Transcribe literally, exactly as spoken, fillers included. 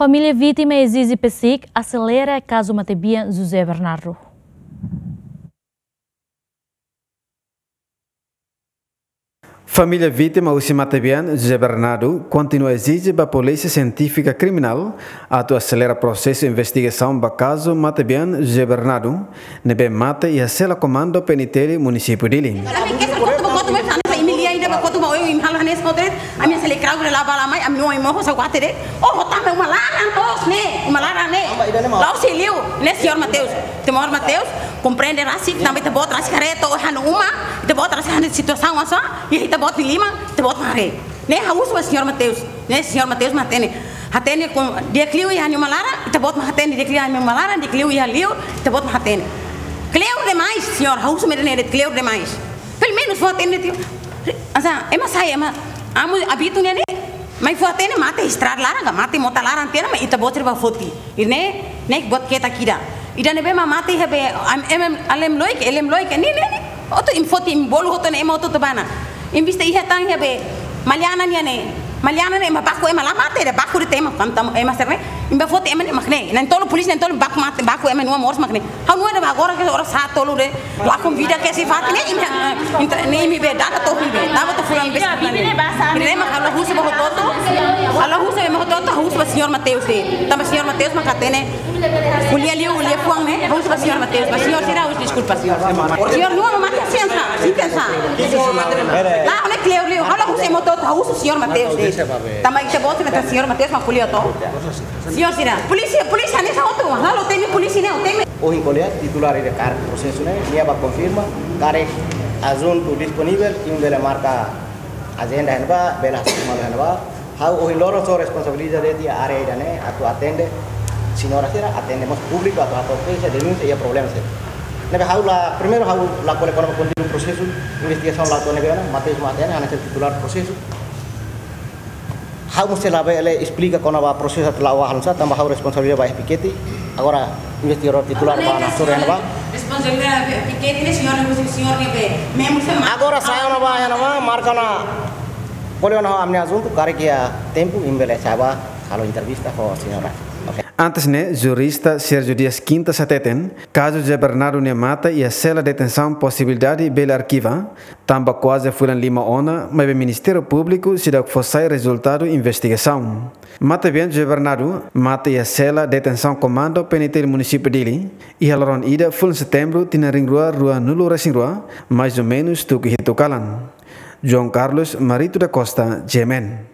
Família vítima ezije PCIC aselera kazu matebian José Bernardo. Família vítima husi matebian José Bernardo kontinua ezije ba Polísia Sientífika Kriminál atu aselera prosesu investigasaun ba kazu matebian José Bernardo, ne'ebé mate iha sela komandu PNTL Munisípiu Dili. Ami kesak kotu ba kotu mai, hanesan imi lia ida ba kotu ba oin imi halo hanesan kotu de'it, ami hanesan iha krauk de'it, la'o ba la'o mai, ami-nia oin moho sa kuate de'it. Oh, tanba uma laran loos ne'e, uma laran ne'e. La'ós liu, ne'e señór Mateus. Señór Mateus, komprende rasik, tanba ita-boot rasik haree to'o ha'u-nia uma, ita-boot rasik haree situasaun oinsá, i ita-boot nia liman, ita-boot haree. Ne'e ha'u husu ba señór Mateus, ne'e señór Mateus mak hatene. Hatene kon di'ak liu iha ha'u-nia uma laran, ita-boot mak hatene di'ak liu iha ha'u-nia uma laran, di'ak liu iha liur, ita-boot mak hatene. Kleur demais, señór, ha'u husu mak dehan ne'e kleur demais. Pelumenus fó hatene tiha. Hanesan, ema sai, ema, amu abitu ne'e ne'e, mai fó hatene mate estrada laran, ka mate mota laran tiha ona, mai ita-boot sira bá foti. I ne'e, ne'e buat ketak ida. Ida ne'ebé mak mate iha be, am, em, em, alem loik, elem loik, ne'e, ne'e, ne'e. Hotu imi foti, imi bolu hotu ne'e, ema hotu-hotu bá ona. Imi vista iha tan iha be, Maliana nian ne'e. Maliana ne'e ema baku ema la mate, dehan baku de'it ema, kam tam, ema sira ne'e. Imi bá foti ema ne'e mak ne'e. Na'in-tolu polísia, na'in-tolu baku mate, baku ema na'in-rua moris mak ne'e. Ha'u-nia oan ne'ebá agora ke oras haat tolu de'it, la konvida ke si fati ne'e, imi, eh, intra, ne'e imi be dada to'o imi be, dada to'o fulan be, fulan be. Ne'e mak ha'u la husu ba hotu-hotu, ha'u la husu ba ema hotu-hotu, ha'u husu ba señór Mateus de'it. Tanba señór Mateus mak hatene, ko'alia liu, ko'alia fuan ne'e, ha'u husu ba señór Mateus, ba señór sira ha'u husu deskulpa. Señór nua mate hanesan, hanesan. Lae, ne'e kleur liu, ha'u la husu ema hotu-hotu, ha'u husu señór Mateus de'it. Tanba ita-boot sira, señór Mateus mak ko'alia to'o. Señór sira, polísia, polísia hanesan hotu, halo temi polísia ne'e, temi. Ohin ko'alia, titulár ida karik prosesu ne'e, nia bá konfirma, karik ajuntu disponivel, imi bele marka ajenda iha ne'ebá, bele hasoru malu iha ne'ebá. Ha'u ohin loron só responsabiliza de'it iha área ida-ne'e, atu atende señora sira, atende mós públiku, atu hato'o keixa, denúnsia, iha problema sira. Ne'ebé ha'u la, primeiru ha'u la ko'alia kona-ba konteúdu prosesu, investigasaun la to'o ne'ebé ona, Mateus mak hatene, hanesan titulár prosesu. Ha'u mós sei la bele esplika kona-ba prosesu atu la'o ba halo nu'usá, tanba ha'u responsabiliza ba F P K T. Agora investigadór titulár bá hasoru iha ne'ebá. Responsabiliza F P K T ne'e señór, ne'e señór ne'ebé membru sira mak. Agora sai ona bá iha ne'ebá, marka ona. Ko'alia ona ho ami-nia ajuntu, karik iha tempu, imi bele sai bá halo entrevista ho señora. Oke. Antes ne'e, jurista Sérgio Dias Quintas hateten, kazu José Bernardo nia mate iha sela detensaun posibilidade bele arkiva, tanba kuaze fulan lima ona, maibé Ministériu Públiku seidauk fó sai rezultadu investigasaun. Matebian José Bernardo mate iha sela detensaun komandu PNTL Munisípiu Dili, iha loron ida fulan Setembru tinan rihun rua ruanulu-resin-rua, mais ou menus tuku hitu kalan. João Carlos Marito da Costa, G M N.